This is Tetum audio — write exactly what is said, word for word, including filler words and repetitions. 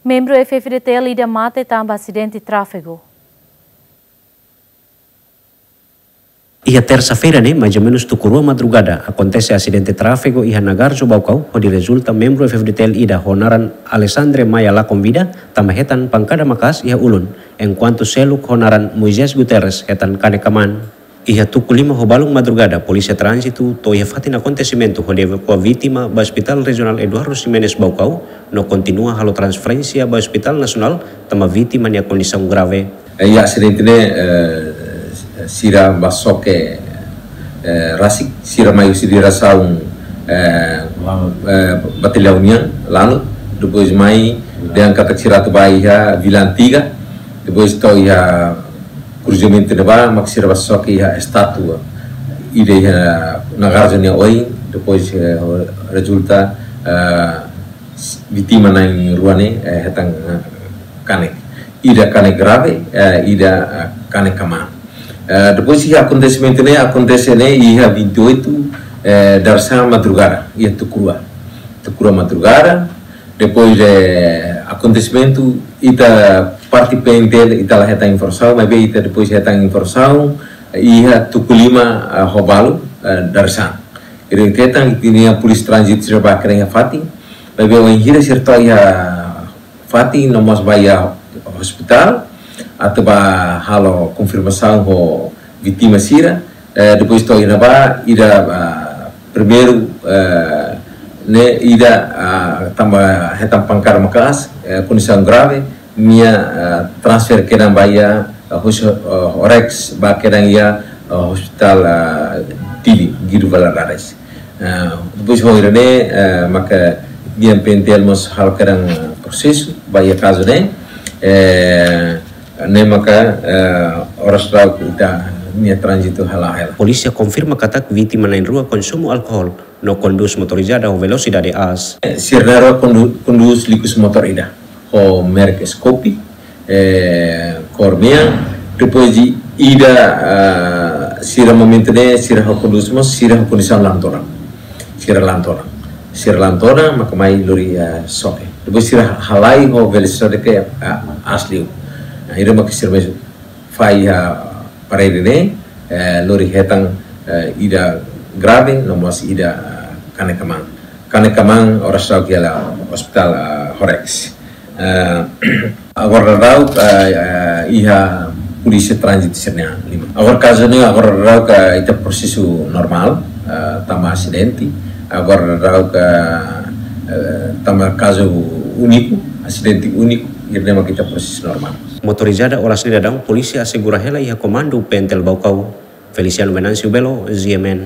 Membru F-FDTL ida mate tanba asidente tráfegu. Iha tersa-feira ne'e, mais ou menus tuku rua madrugada, akontese asidente tráfegu iha Nagarjo Baucau, hodi rezulta membru F-FDTL ida ho naran Alexandre Maia lakon vida, tanba hetan pankada maka'as iha ulun, enkuantu seluk ho naran Moisés Guterres hetan kanek kamaan. Iha tuku lima ho balun madrugada, Polísia Tránzitu to'o iha fatin akontesimentu hodi evakua vítima ba Hospital Rejionál Eduardo Ximenes Baucau, no kontinua halo transferénsia ba Hospital Nasionál, tanba vítima nia kondisaun grave. Eh, iha asidente ne'e, eh, sira bá xoke, eh, rasik, sira mai husi diresaun, eh, eh, Batallaun nian, Lanut, depois mai, dehan katak sira atu bá iha Vila Antiga, depois to'o iha kruzamentu ne'ebá, mak sira bá xoke iha estátua ida iha Nagarjo nia oin, depois, eh, rezulta, eh, vítima na'in rua ne'e, eh, hetan, eh, kanek. Ida kanek grave, eh, ida, eh, kanek kamaan. Eh, depois iha akontesimentu ne'e, akontese ne'e iha vinte e oito, eh, dadeer-saan madrugada, iha tuku rua. Tuku rua madrugada, depois de akontesimentu, ita parte P N T L, ita la hetan informasaun, maibé ita depois hetan informasaun, eh, iha tuku lima, eh, ho balun, eh, dadeer-saan. Ita hetan, ita-nia Polísia Tránzitu sira bá kedan iha fatin, maibé wainhira sira to'o iha fatin, no mós bá iha ospitál, atu bá halo konfirmasaun ho vítima sira, eh, depois to'o iha ne'ebá, ida, ah, primeiru, eh, ne'e ida, ah, tanba hetan pankada maka'as, eh, kondisaun grave, nia, ah, transfere kedan ba iha, ah, hus-, ah, Horex, bá kedan iha, ah, Hospital, ah, Dili, Guido Valadares. Ah, depois ho ida-ne'e, eh, maka ita-nia P N T L mós halo kedan prosesu ba iha kazu ne'e, eh, ne'e maka, eh, oras daudaun ita-nia tránzitu hala'o hela. Polísia konfirma katak vítima na'in rua konsumu alkohol, no kondús motorizada ho velosidade aas. Eh, sira na'in rua kondu-, kondús likus motór ida ho merek Scoopy, eh, kór mean, depois de ida, ah, sira momentu ne'e, sira ho kondús mós, sira ho kondisaun la'an todan. Sira la'an todan. Sira la'an todan, maka mai lori, ah, xoke. Depois sira halai ho velosidade ke, ah, aas liu. Nah, ida maka sira mai fahe iha parede ne'e, eh, lori hetan, eh, ida grave, no mós ida, eh, kanek kamaan. Kanek kamaan oras daudaun hela ospitál, eh, Horex. Eh, agora daudaun, eh, eh, iha Polísia Tránzitu sira-nia liman. Agora kazu ne'e, agora daudaun ita prosesu normál, eh, tanba asidente. Agora daudaun, eh, tanba kazu úniku, asidente úniku, ida-ne'e mak ita prosesu normál. Motorizada oras ne'e daudaun, polísia asegura hela iha komandu P N T L Baucau. Feliciano Venâncio Belo, G M N.